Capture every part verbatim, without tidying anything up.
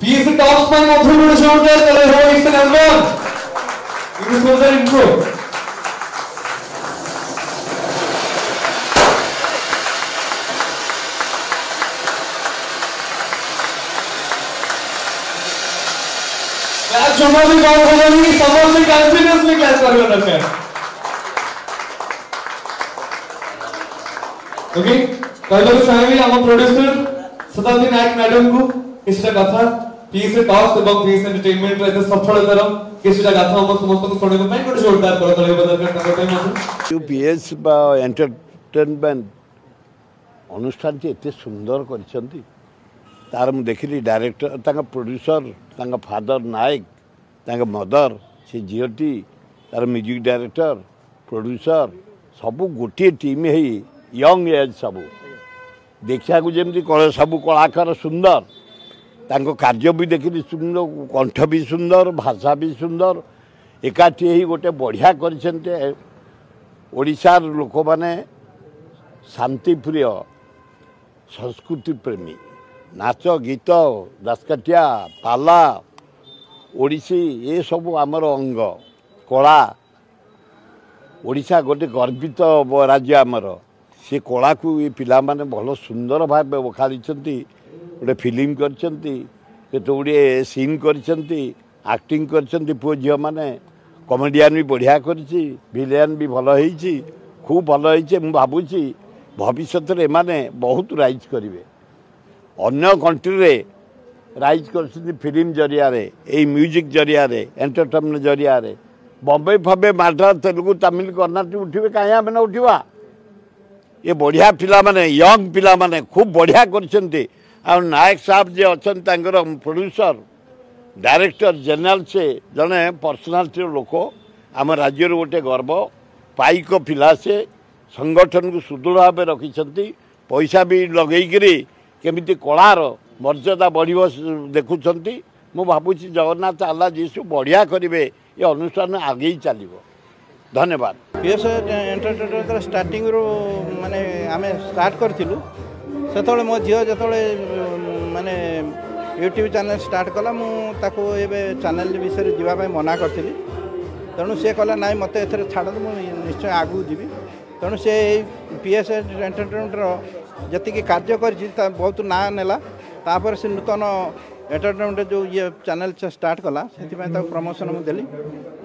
PSA talks ପାଇଁ ମଧ୍ୟ ଗୋଟେ ଜୋରଦାର ତାଳି ହବ each and everyone. This was the intro. Clap ଜମା ବି କମ ହବନି, ସମସ୍ତେ କଣ୍ଟିନ୍ୟୁଅସଲି କ୍ଲାପ୍ କରିବା ଦରକାର। ଓକେ, କହିବାକୁ ଚାହିଁବି ଆମ ପ୍ରଡ୍ୟୁସର ଶତାବ୍ଦୀ ନାୟକ ମ୍ୟାଡମକୁ କିଛିଟା କଥା, ପିଏସଏ ଟକ୍ସ ଏବଂ ପିଏସଏ ଏଣ୍ଟରଟେନମେଣ୍ଟର ଏତେ ସଫଳତାର କିଛିଟା କଥା ଆମ ସମସ୍ତଙ୍କୁ ଶୁଣିବା ପାଇଁ ଗୋଟେ ଜୋରଦାର କରତାଳି ହେବା ଦରକାର ତାଙ୍କ ପାଇଁ ମଧ୍ୟ। ଯେଉଁ ପି ଏସ୍ ବା ଏଣ୍ଟରଟେନମେଣ୍ଟ ଅନୁଷ୍ଠାନଟି ଏତେ ସୁନ୍ଦର କରିଛନ୍ତି, ତାର ମୁଁ ଦେଖିଲି ଡାଇରେକ୍ଟର, ତାଙ୍କ ପ୍ରଡ୍ୟୁସର, ତାଙ୍କ ଫାଦର ନାୟକ, ତାଙ୍କ ମଦର, ସେ ଝିଅଟି, ତାର ମ୍ୟୁଜିକ୍ ଡାଇରେକ୍ଟର, ପ୍ରଡ୍ୟୁସର ସବୁ ଗୋଟିଏ ଟିମ୍ ହେଇ ୟଙ୍ଗ ଏଜ୍, ସବୁ ଦେଖିବାକୁ ଯେମିତି ସବୁ କଳାକାର ସୁନ୍ଦର, ତାଙ୍କ କାର୍ଯ୍ୟ ବି ଦେଖିଲି ସୁନ୍ଦର, କଣ୍ଠ ବି ସୁନ୍ଦର, ଭାଷା ବି ସୁନ୍ଦର, ଏକାଠି ହେଇ ଗୋଟେ ବଢ଼ିଆ କରିଛନ୍ତି। ଓଡ଼ିଶାର ଲୋକମାନେ ଶାନ୍ତିପ୍ରିୟ, ସଂସ୍କୃତି ପ୍ରେମୀ, ନାଚ ଗୀତ, ଦାସକାଠିଆ, ପାଲା, ଓଡ଼ିଶୀ ଏସବୁ ଆମର ଅଙ୍ଗ କଳା। ଓଡ଼ିଶା ଗୋଟେ ଗର୍ବିତ ରାଜ୍ୟ ଆମର। ସେ କଳାକୁ ଏ ପିଲାମାନେ ଭଲ ସୁନ୍ଦର ଭାବେ ବଖାଣିଛନ୍ତି। ଗୋଟେ ଫିଲ୍ମ କରିଛନ୍ତି, କେତେ ଗୁଡ଼ିଏ ସିନ୍ କରିଛନ୍ତି, ଆକ୍ଟିଂ କରିଛନ୍ତି ପୁଅ ଝିଅମାନେ। କମେଡ଼ିଆନ୍ ବି ବଢ଼ିଆ କରିଛି, ଭିଲିଆନ୍ ବି ଭଲ ହେଇଛି, ଖୁବ୍ ଭଲ ହେଇଛି। ମୁଁ ଭାବୁଛି ଭବିଷ୍ୟତରେ ଏମାନେ ବହୁତ ରାଇଜ୍ କରିବେ। ଅନ୍ୟ କଣ୍ଟ୍ରିରେ ରାଇଜ୍ କରିଛନ୍ତି ଫିଲ୍ମ ଜରିଆରେ, ଏଇ ମ୍ୟୁଜିକ୍ ଜରିଆରେ, ଏଣ୍ଟରଟେନମେଣ୍ଟ ଜରିଆରେ। ବମ୍ବେ ଫମ୍ବେ, ମାଡ୍ରାସ, ତେଲୁଗୁ, ତାମିଲ, କର୍ଣ୍ଣାଟକ ଉଠିବେ, କାହିଁ ଆମେ ନ ଉଠିବା? ଏ ବଢ଼ିଆ ପିଲାମାନେ, ୟଙ୍ଗ ପିଲାମାନେ ଖୁବ୍ ବଢ଼ିଆ କରିଛନ୍ତି। ଆଉ ନାୟକ ସାହେବ ଯିଏ ଅଛନ୍ତି ତାଙ୍କର ପ୍ରଡ୍ୟୁସର, ଡାଇରେକ୍ଟର ଜେନେରାଲ, ସେ ଜଣେ ପର୍ସନାଲିଟିର ଲୋକ, ଆମ ରାଜ୍ୟର ଗୋଟେ ଗର୍ବ। ପାଇକ ପିଲା ସେ, ସଂଗଠନକୁ ସୁଦୃଢ଼ ଭାବେ ରଖିଛନ୍ତି। ପଇସା ବି ଲଗେଇକିରି କେମିତି କଳାର ମର୍ଯ୍ୟାଦା ବଢ଼ିବ ଦେଖୁଛନ୍ତି। ମୁଁ ଭାବୁଛି ଜଗନ୍ନାଥ, ଆଲ୍ଲା, ଯୀଶୁ ବଢ଼ିଆ କରିବେ, ଏ ଅନୁଷ୍ଠାନ ଆଗେଇ ଚାଲିବ। ଧନ୍ୟବାଦ। ପିଏସ୍ ଏଣ୍ଟରଟେନମେଣ୍ଟ ଷ୍ଟାର୍ଟିଂରୁ ମାନେ ଆମେ ଷ୍ଟାର୍ଟ କରିଥିଲୁ, ସେତେବେଳେ ମୋ ଝିଅ ଯେତେବେଳେ ମାନେ ୟୁଟ୍ୟୁବ୍ ଚ୍ୟାନେଲ୍ ଷ୍ଟାର୍ଟ କଲା, ମୁଁ ତାକୁ ଏବେ ଚ୍ୟାନେଲ୍ ବିଷୟରେ ଯିବା ପାଇଁ ମନା କରିଥିଲି। ତେଣୁ ସେ କହିଲା, ନାଇଁ, ମୋତେ ଏଥିରେ ଛାଡ଼ନ୍ତୁ, ମୁଁ ନିଶ୍ଚୟ ଆଗକୁ ଯିବି। ତେଣୁ ସେ ଏଇ ପି ଏସ୍ ଏଣ୍ଟରଟେନମେଣ୍ଟର ଯେତିକି କାର୍ଯ୍ୟ କରିଛି ତା ବହୁତ ନାଁ ନେଲା। ତାପରେ ସେ ନୂତନ ଏଣ୍ଟରଟେନମେଣ୍ଟ ଯେଉଁ ଇଏ ଚ୍ୟାନେଲ୍ ଷ୍ଟାର୍ଟ କଲା, ସେଥିପାଇଁ ତାକୁ ପ୍ରମୋସନ୍ ମୁଁ ଦେଲି।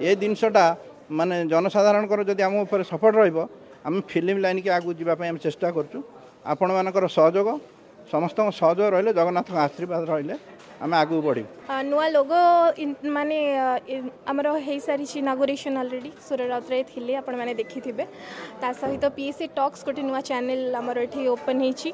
ଏ ଜିନିଷଟା ମାନେ ଜନସାଧାରଣଙ୍କର ଯଦି ଆମ ଉପରେ ସପୋର୍ଟ ରହିବ, ଆମେ ଫିଲ୍ମ ଲାଇନ୍କି ଆଗକୁ ଯିବା ପାଇଁ ଆମେ ଚେଷ୍ଟା କରୁଛୁ। ଆପଣମାନଙ୍କର ସହଯୋଗ, ସମସ୍ତଙ୍କ ସହଯୋଗ ରହିଲେ, ଜଗନ୍ନାଥଙ୍କ ଆଶୀର୍ବାଦ ରହିଲେ ଆମେ ଆଗକୁ ବଢ଼ିବୁ। ନୂଆ ଲୋଗୋ ମାନେ ଆମର ହେଇସାରିଛି ଇନାଗୁରେସନ୍ ଅଲରେଡ଼ି, ସୁର ରାଉତରାୟ ଥିଲେ, ଆପଣମାନେ ଦେଖିଥିବେ। ତା ସହିତ ପି ଏସ୍ ଏ ଟକ୍ସ ଗୋଟେ ନୂଆ ଚ୍ୟାନେଲ୍ ଆମର ଏଠି ଓପନ୍ ହେଇଛି,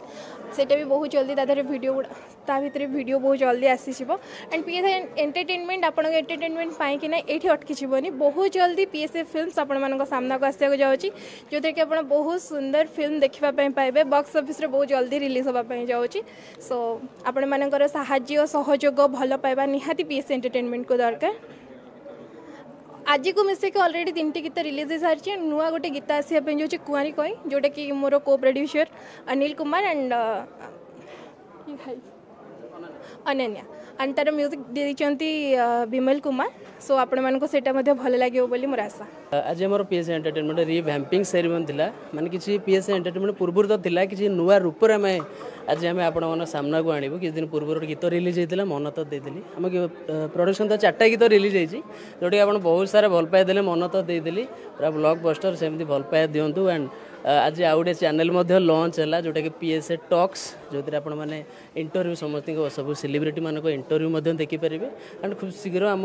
ସେଇଟା ବି ବହୁତ ଜଲ୍ଦି ତା ଦେହରେ ଭିଡ଼ିଓ ଗୁଡ଼ା, ତା ଭିତରେ ଭିଡ଼ିଓ ବହୁତ ଜଲ୍ଦି ଆସିଯିବ। ଆଣ୍ଡ ପି ଏସ୍ ଏଣ୍ଟରଟେନମେଣ୍ଟ ଆପଣଙ୍କ ଏଣ୍ଟରଟେନମେଣ୍ଟ ପାଇଁକିନା ଏଇଠି ଅଟକିଯିବନି। ବହୁତ ଜଲ୍ଦି ପି ଏସ୍ ଏ ଫିଲ୍ମସ୍ ଆପଣମାନଙ୍କ ସାମ୍ନାକୁ ଆସିବାକୁ ଯାଉଛି, ଯେଉଁଥିରେ କି ଆପଣ ବହୁତ ସୁନ୍ଦର ଫିଲ୍ମ ଦେଖିବା ପାଇଁ ପାଇବେ। ବକ୍ସ ଅଫିସରେ ବହୁତ ଜଲ୍ଦି ରିଲିଜ୍ ହେବା ପାଇଁ ଯାଉଛି। ସୋ ଆପଣମାନଙ୍କର ସାହାଯ୍ୟ, ସହଯୋଗ, ଭଲ ପାଇବା ନିହାତି ପି ଏସ୍ ଏଣ୍ଟରଟେନମେଣ୍ଟକୁ ଦରକାର। ଆଜିକୁ ମିଶିକି ଅଲରେଡ଼ି ତିନିଟି ଗୀତ ରିଲିଜ୍ ହେଇସାରିଛି। ନୂଆ ଗୋଟେ ଗୀତ ଆସିବା ପାଇଁ ଯାଉଛି, କୁଆଁରୀ କଇଁ, ଯେଉଁଟାକି ମୋର co producer Anil Kumar and Ananya, and ତାର ମ୍ୟୁଜିକ୍ ଦେଇଛନ୍ତି ବିମଲ କୁମାର। ସୋ ଆପଣମାନଙ୍କୁ ସେଇଟା ମଧ୍ୟ ଭଲ ଲାଗିବ ବୋଲି ମୋର ଆଶା। ଆଜି ଆମର ପି ଏସ୍ ଏଣ୍ଟରଟେନମେଣ୍ଟ ରିଭ୍ୟାମ୍ପିଂ ସେରିମନି ଥିଲା। ମାନେ କିଛି ପି ଏସ୍ ଏଣ୍ଟରଟେନମେଣ୍ଟ ପୂର୍ବରୁ ତ ଥିଲା, କିଛି ନୂଆ ରୂପରେ ଆମେ ଆଜି ଆମେ ଆପଣମାନଙ୍କ ସାମ୍ନାକୁ ଆଣିବୁ। କିଛି ଦିନ ପୂର୍ବରୁ ଗୋଟେ ଗୀତ ରିଲିଜ୍ ହେଇଥିଲା, ମନ ତ ଦେଇଦେଲି। ଆମ ପ୍ରଡକ୍ସନ୍ ତ ଚାରିଟା ଗୀତ ରିଲିଜ୍ ହେଇଛି, ଯେଉଁଟାକି ଆପଣ ବହୁତ ସାରା ଭଲ ପାଇବା ଦେଲେ। ମନ ତ ଦେଇଦେଲି ପୁରା ବ୍ଲକ୍ ବଷ୍ଟର, ସେମିତି ଭଲ ପାଇବା ଦିଅନ୍ତୁ। ଆଣ୍ଡ ଆଜି ଆଉ ଗୋଟେ ଚ୍ୟାନେଲ୍ ମଧ୍ୟ ଲଞ୍ଚ ହେଲା, ଯେଉଁଟାକି ପି ଏସ୍ ଏ ଟକ୍ସ, ଯେଉଁଥିରେ ଆପଣମାନେ ଇଣ୍ଟରଭ୍ୟୁ, ସମସ୍ତଙ୍କ ସବୁ ସେଲିବ୍ରିଟିମାନଙ୍କ ଇଣ୍ଟରଭ୍ୟୁ ମଧ୍ୟ ଦେଖିପାରିବେ। ଆଣ୍ଡ ଖୁବ୍ ଶୀଘ୍ର ଆମ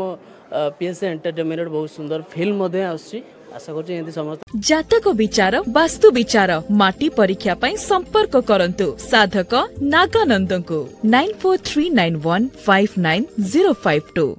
ପି ଏସ୍ ଏ ଏଣ୍ଟରଟେନମେଣ୍ଟ ବହୁତ ସୁନ୍ଦର ଫିଲ୍ମ ମଧ୍ୟ ଆସୁଛି। ଆଶା କରୁଛି ଏମିତି ସମସ୍ତେ ଜାତକ ବିଚାର, ବାସ୍ତୁ ବିଚାର, ମାଟି ପରୀକ୍ଷା ପାଇଁ ସମ୍ପର୍କ କରନ୍ତୁ ସାଧକ ନାଗାନନ୍ଦଙ୍କୁ nine four three nine one five nine zero five two.